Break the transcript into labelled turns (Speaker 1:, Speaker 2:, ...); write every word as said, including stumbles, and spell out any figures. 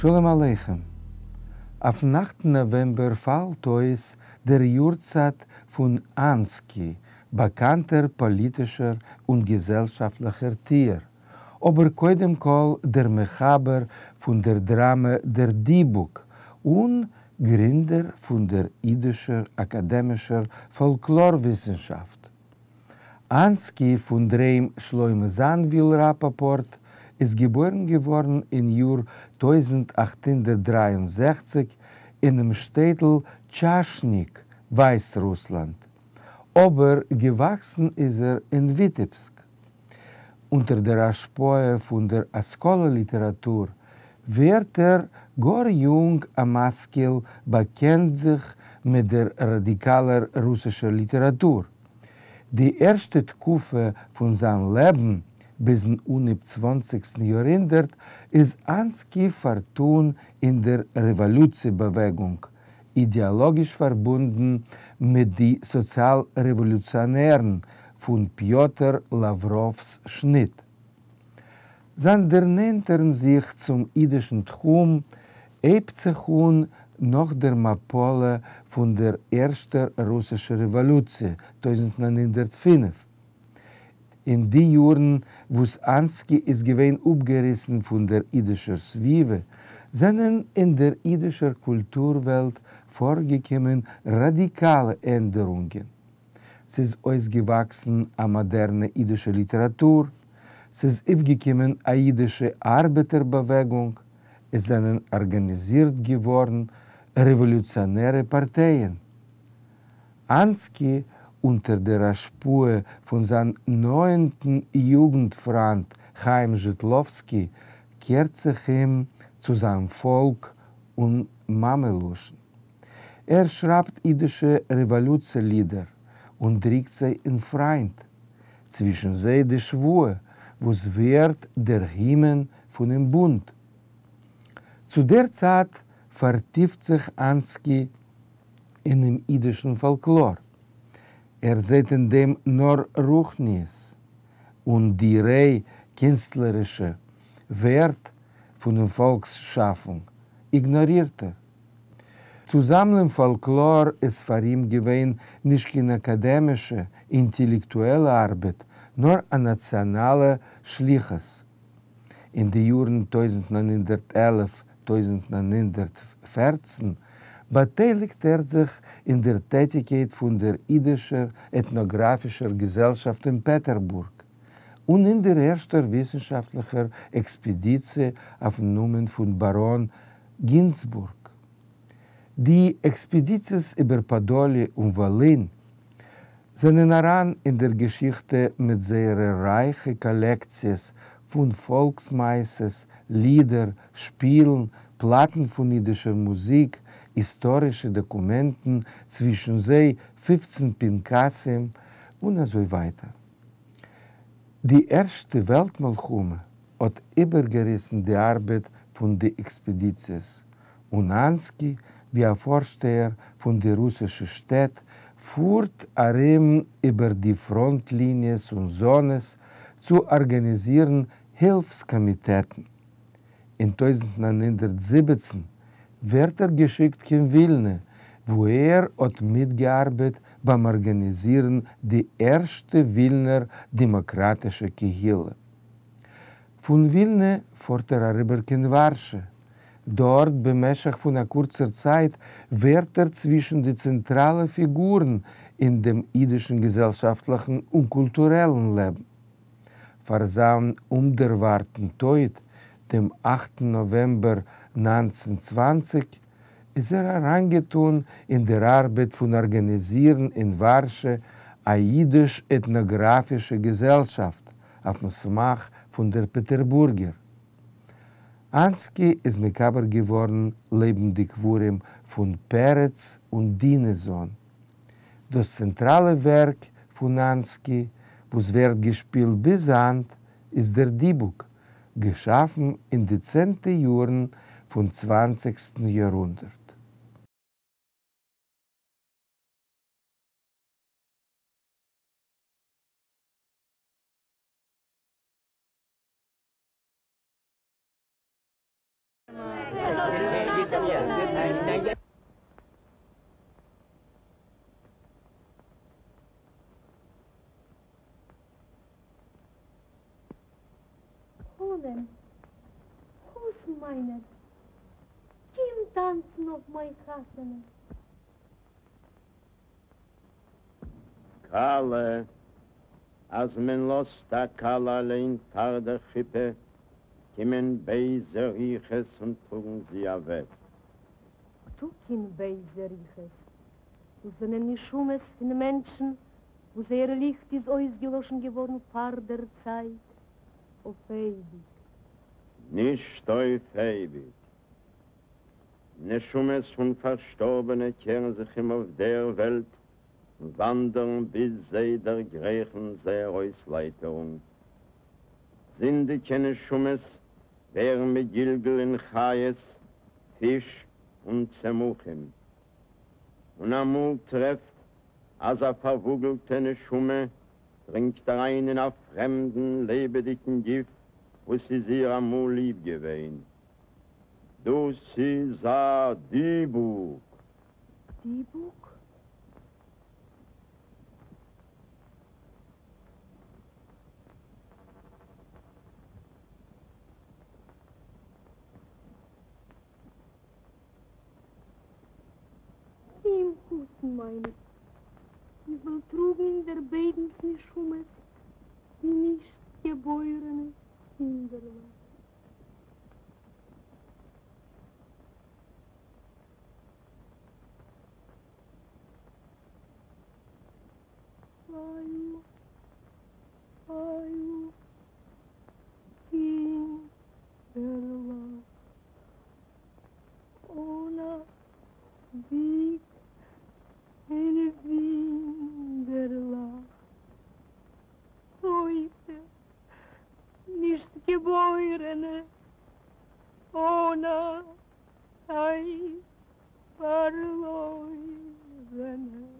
Speaker 1: שלום עליכם. אויפֿן אַכטן נאָוועמבער פֿאַלט אויס דער יאָרצײַט פֿון אַנסקי, באַקאַנטער פּאָליטישער און געזעלשאַפֿטלעכער טוער, אָבער קודם־כּל דער מחבר פֿון דער דראַמע דער דיבוק און גרינדער פֿון דער ייִדישער אַקאַדעמישער פֿאָלקלאָר-וויסנשאַפֿט. אַנסקי פֿון דער היים שלמה זאַנוויל ראַפּאָפּאָרט איז געבוירן געוואָרן אין יאָר טויזנט אַכט הונדערט דרײַ און זעכציק אינעם שטעטל טשאַשניק, ווײַסרוסלאַנד. אָבער געוואַקסן איז ער אין וויטעבסק. אונטער דער השפּעה פֿון דער השׂכּלה-ליטעראַטור ווערט ער גאָר יונג אַ משׂכּיל, באַקענט זיך מיט דער ראַדיקאַלער רוסישער ליטעראַטור. די ערשטע תּקופֿה פֿון זײַן לעבן ביזן אָנהייב צוואַנציקסטן יאָרהונדערט איז אַנסקי פֿאַרטאָן אין דער רעוואָלוציע-באַוועגונג, אידעאָלאָגיש פֿאַרבונדן מיט די סאָציאַל-רעוואָלוציאָנערן פֿון פּיאָטר לאַווראָווס שניט. זײַן דערנענטערן זיך צום ייִדישן תּחום הייבט זיך אָן נאָך דער מפּלה פֿון דער ערשטער רוסישער רעוואָלוציע, טויזנט נײַן הונדערט פֿינף. אין די יאָרן, וואָס אַנסקי איז געווען אָפּגעריסן פֿון דער ייִדישער סבֿיבֿה, זענען אין דער ייִדישער קולטור-וועלט פֿאָרגעקומען ראַדיקאַלע ענדערונגען. ס'איז אויסגעוואַקסן אַ מאָדערנע ייִדישע ליטעראַטור, ס'איז אויפֿגעקומען אַ ייִדישע אַרבעטער-באַוועגונג, עס זענען אָרגאַניזירט געוואָרן רעוואָלוציאָנערע פּאַרטייען. אַנסקי, אונטער דער השפּעה פֿון זײַן נאָענטן יוגנט-פֿרײַנד חיים זשיטלאָווסקי, קערט זיך אום צו זײַן פֿאָלק און מאַמע-לשון. ער שרײַבט ייִדישע רעוואָלוציע-לידער און דרוקט זיי אין פֿרײַנד, צווישן זיי די שבֿועה, וואָס ווערט דער הימען פֿונעם בונד. צו דער צײַט פֿאַרטיפֿט זיך אַנסקי אינעם ייִדישן פֿאָלקלאָר. ער זעט אין דעם נאָר רוחניות און די ריי קינסטלערישע ווערט פֿונעם פֿאָלקס-שאַפֿונג איגנאָרירט ער. צו זאַמלען פֿאָלקלאָר איז פֿאַר אים געווען נישט קיין אַקאַדעמישע, אינטעלעקטועלע אַרבעט, נאָר אַ נאַציאָנאַלע שליחות. אין די יאָרן טויזנט נײַן הונדערט עלף טויזנט נײַן הונדערט פֿערצן באַטייליקט ער זיך אין דער טעטיקייט פֿון דער ייִדישער עטנאָגראַפֿישער געזעלשאַפֿט אין פּעטערבורג און אין דער ערשטער וויסנשאַפֿטלעכער עקספּעדיציע אויפֿן נאָמען פֿון באַראָן גינצבורג. די עקספּעדיציעס איבער פּאַדאָליע און וואָלין זענען אַרײַן אין דער געשיכטע מיט זייערע רײַכע קאָלעקציעס פֿון פֿאָלקס-מעשׂות, לידער, שפּילן, פּלאַטן פֿון ייִדישער מוזיק, היסטאָרישע דאָקומענטן, צווישן זיי פֿופֿצן פּנקסים און אַזוי ווײַטער. די ערשטע וועלט-מלחמה האָט איבערגעריסן די אַרבעט פֿון די עקספּעדיציעס, און אַנסקי, ווי אַ פֿאָרשטייער פֿון די רוסישע שטעט, פֿאָרט אַרום איבער די פֿראָנט-ליניעס און זאָנעס צו אָרגאַניזירן הילפֿס-קאָמיטעטן. אין טויזנט נײַן הונדערט זיבעצן ווערט ער געשיקט קיין ווילנע, וווּ ער האָט מיטגעאַרבעט בײַם אָרגאַניזירן די ערשטע ווילנער דעמאָקראַטישע קהילה. פֿון ווילנע פֿאָרט ער אַריבער קיין וואַרשע. דאָרט, במשך פֿון אַ קורצער צײַט, ווערט ער צווישן די צענטראַלע פֿיגורן אין דעם ייִדישן געזעלשאַפֿטלעכן און קולטורעלן לעבן. פֿאַר זײַן אומדערוואַרטן טויט, דעם אַכטן נאָוועמבער נײַנצן צוואַנציק, איז ער אַרײַנגעטאָן אין דער אַרבעט פֿון אָרגאַניזירן אין וואַרשע אַ ייִדיש-עטנאָגראַפֿישע געזעלשאַפֿט אויפֿן סמך פֿון דער פּעטערבורגער. אַנסקי איז מקבר געוואָרן לעבן די קבֿרים פֿון פּרץ און דינעזאָן. דאָס צענטראַלע ווערק פֿון אַנסקי, וואָס ווערט געשפּילט ביז הײַנט, איז דער דיבוק, געשאַפֿן אין די צענטע יאָרן פֿון צוואַנציקסטן יאָרהונדערט.
Speaker 2: חנן, חתן מײַנער, קום טאַנצן אויף מײַן חתונה.
Speaker 3: כּלה, אַז מען לאָזט אַ כּלה אַליין פֿאַר דער חופּה, קומען בייזע רוחות און טראָגן זי אַוועק.
Speaker 2: ניטאָ קיין בייזע רוחות. דאָס זענען נשמות פֿון מענטשן, וואָס זייער ליכט איז אויסגעלאָשן געוואָרן פֿאַר דער צײַט, אויף אייביק.
Speaker 3: נישט אויף אייביק. נשמות פֿון פֿאַרשטאָרבענע קערן זיך אום אויף דער וועלט און וואַנדערן ביז זיי דערגרייכן זייער אויסלייטערונג. זינדיקע נשמות ווערן מגולגל אין חיות, פֿיש און צמחים. און אַמאָל טרעפֿט, אַז אַ פֿאַרוואָגלטע נשמה דרינגט אַרײַן אין אַ פֿרעמדן לעבעדיקן גוף, וואָס איז איר אַמאָל ליב געווען. דאָס איז אַ דיבוק.
Speaker 2: דיבוק? קום, חתן מײַנער, איך וועל טראָגן אין דער ביידנס נשמות די נישט געבוירענע קינדערלעך. אַיו, אַיו, קינדערלעך, אָן אַ וויג און ווינדערלעך, טויטע, נישט געבוירענע, אָן אַ צײַט פֿאַרלוירענע.